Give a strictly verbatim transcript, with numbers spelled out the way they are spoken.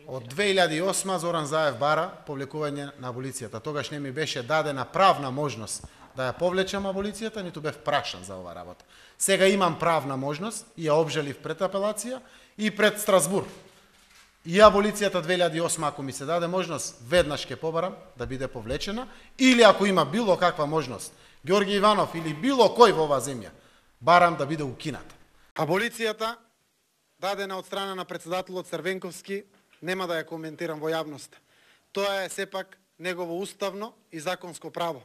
Од две илјади и осма Зоран Заев бара повлекување на аболицијата. Тогаш не ми беше дадена правна можност да ја повлечам аболицијата, ниту бев прашан за ова работа. Сега имам правна можност и ја обжалив пред апелација и пред Страсбур. И аболицијата две илјади и осма, ако ми се даде можност, веднаш ќе побарам да биде повлечена, или ако има било каква можност, Ѓорги Иванов или било кој во оваа земја, барам да биде укината. Аболицијата, дадена од страна на председателот Црвенковски, нема да ја коментирам во јавност. Тоа е сепак негово уставно и законско право.